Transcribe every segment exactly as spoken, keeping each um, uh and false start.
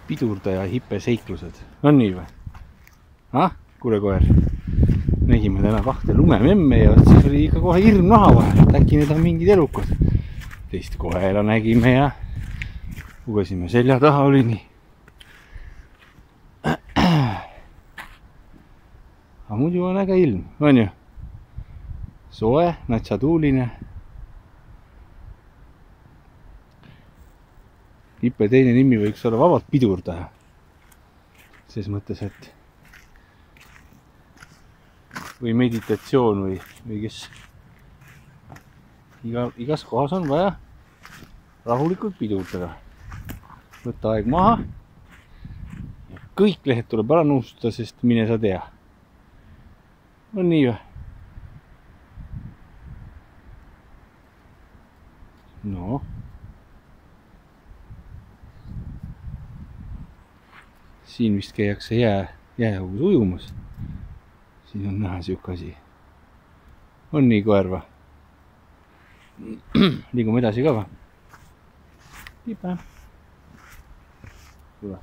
pidurdaja hipeseiklused. On nii või? Ah, kuule koer. Nägime täna kahte lumememme ja siis oli ikka kohe hirm naha vahel, et äkki need on mingid elukad. Teist koera nägime ja lugesime selja taha, oli nii. Aga muidu on äge ilm, on ju? Soe, natsatuuline. Hippe teine nimi võiks olla vabalt pidurdaja. Ses mõttes, et või meditatsioon või, või kes Iga, igas kohas on vaja rahulikult pidurdada. Võtta aeg maha ja kõik lehed tuleb ära nuustada, sest mine sa tea. On nii või? No. Siin vist käiakse jää, jäähõus ujumas. Siin on näha siuke asi. On nii koer või? Liigume edasi ka või? Piipa. Tule.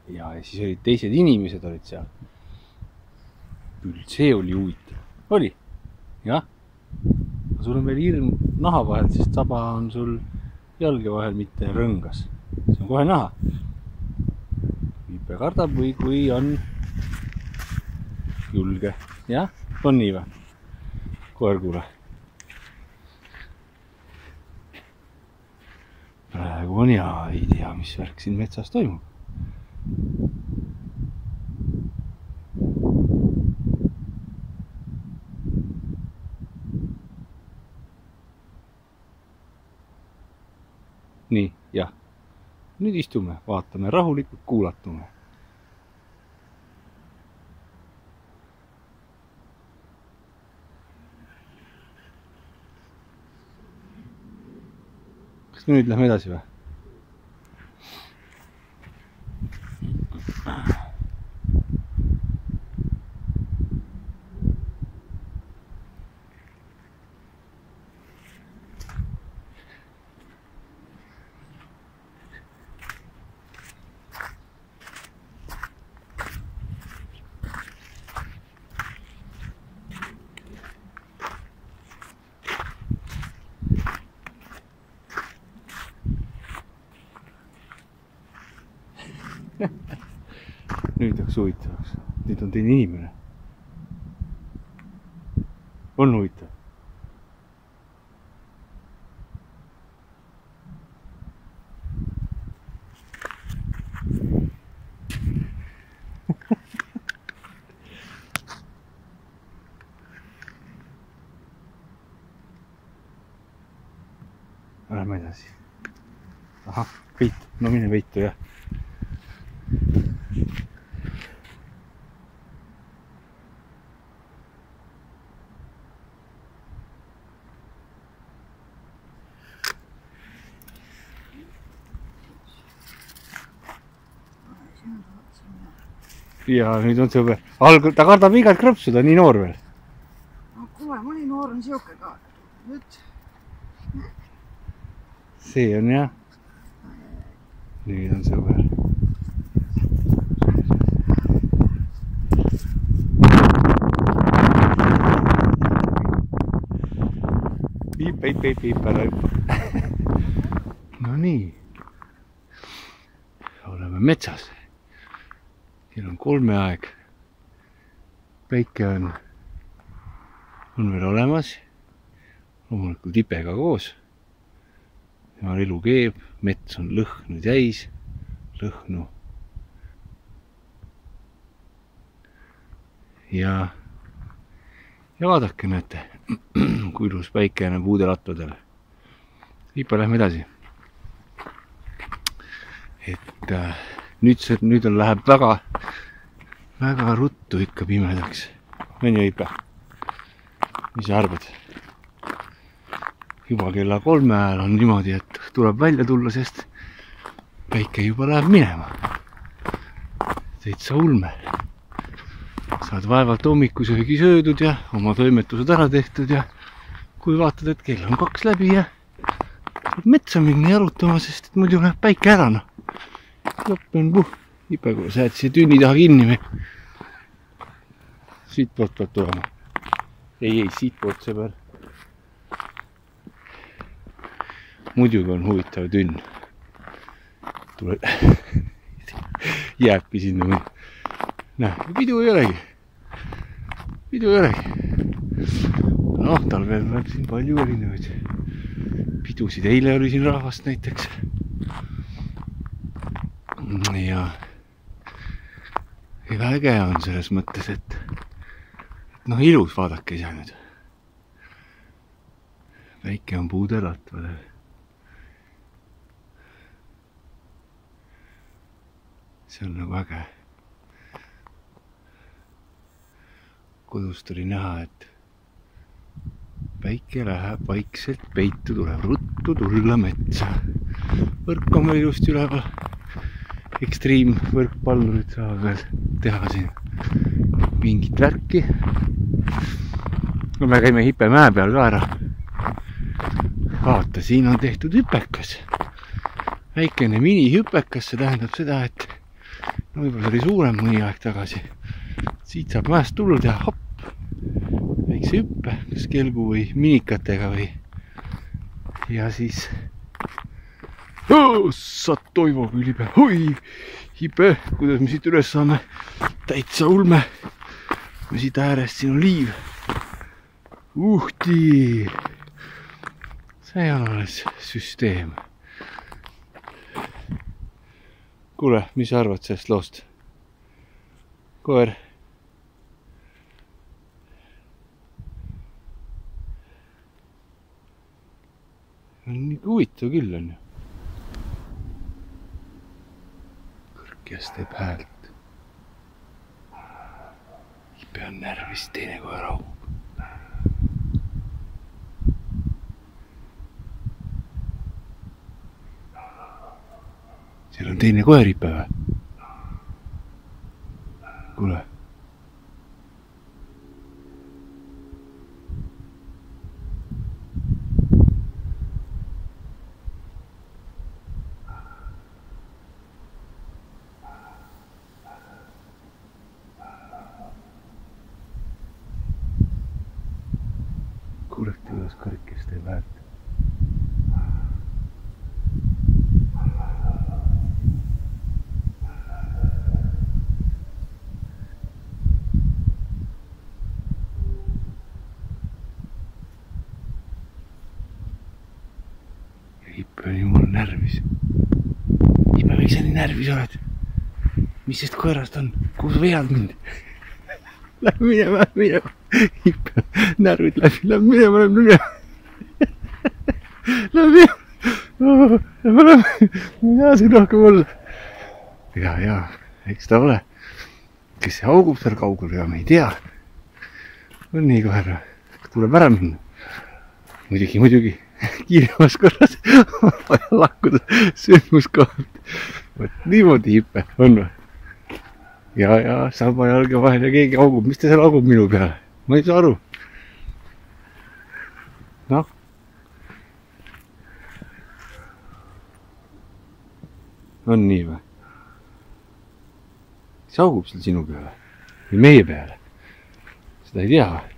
Ja, ja siis olid teised inimesed olid seal. Küll see oli huvitav. Oli? Jah? Sul on veel hirm naha vahel, sest saba on sul jalge vahel, mitte rõngas. See on kohe naha. Viipe kardab või kui on julge. Jah? On nii või? Koer kuule. Praegu on ja ei tea, mis värk siin metsas toimub. Nii, jah. Nüüd istume, vaatame rahulikult, kuulatume. Kas nüüd lähme edasi või? Nüüd oleks huvitavaks. Nüüd on teine inimene. On huvitav. Lähme edasi. Ahah, peit. No mine peitu, jah. Ja nüüd on see alg... ta kardab igat krõpsu, ta on nii noor veel. No kuule, mõni noor on siuke ka. Nüüd. See on jah. Nüüd on sõber. Piip, piip, piip, piip, ära hüppa. No nii. Oleme metsas. Siin on kolme aeg. Päike on, on veel olemas. Loomulikult hipega koos. Ja elu keeb, mets on lõhnu täis, lõhnu. Ja, ja vaadake, näete, kui ilus päike on puudelattudel. Hiipa, lähme edasi. Et äh, nüüd, see, nüüd on, läheb väga, väga ruttu ikka pimedaks. On ju, Hiipa? Mis sa arvad? Juba kella kolme ajal on niimoodi, et tuleb välja tulla, sest päike juba läheb minema. täitsa ulme. Saad vaevalt hommikusöögi söödud ja oma toimetused ära tehtud ja kui vaatad, et kell on kaks läbi ja saab metsa minna jalutama, sest et muidu läheb päike ära, noh. Lõpp on puh, ipe, kui sa jääd siia tünni taha kinni või. Siit poolt peab tulema. Ei, ei, siit poolt sõber. Muidugi on huvitav tünn. Tule... Jääbki sinna mõni. Näe, pidu ei olegi. Pidu ei olegi. Noh, talvel läheb siin palju erinevaid pidusid. Eile oli siin rahvast näiteks. Ja ega äge on selles mõttes, et noh, ilus vaadake ise nüüd. Väike on puuderalt veel. See on nagu äge. Kodust oli näha, et päike läheb vaikselt peitu, tuleb ruttu tulla metsa. Võrk on meil just üleval. Extreme võrkpallurid saavad veel teha siin mingit värki. Me käime Hipemäe peal ka ära. Vaata, siin on tehtud hüpekas. Väikene minihüpekas, see tähendab seda, et no võib-olla oli suurem mõni aeg tagasi. Siit saab mäest tulla teha hopp. Väikse hüppe, kas kelgu või minikatega või. Ja siis... Oh, saad toivo külipea. Oi, Hipe, kuidas me siit üles saame? Täitsa ulme. Me siit äärest, siin on liiv. Uhti. See on alles süsteem. Kuule, mis sa arvad sellest loost? Koer. On nii huvitav küll on ju. Kõrkjas teeb häält. Hipe on närvis, teine koer augub. Seal on teine koer Hipe või? Kuule. Kuulete, kuidas kõrkjas teeb häält. Hipe on jumal närvis. Hipe, miks sa nii närvis oled? Mis sest koerast on? Kuhu sa vead mind? Lähme minema, lähme minema. Hipe, närvid läbi, lähme minema, lähme minema. Lähme minema. Lähme, lähme. Mina siin rohkem olla. Ja, ja, eks ta ole. Kes see augub seal kaugel, ja me ei tea. On nii kohe, tuleb ära minna. Muidugi, muidugi. Kiiremas korras vaja lakkuda sündmuskohalt. Võt niimoodi Hipe on või? Ja, ja sama jalge vahel ja keegi augub. Mis ta seal augub minu peale? Ma ei saa aru. Noh. On nii või? Kes augub seal sinu peale? Või meie peale? Seda ei tea või?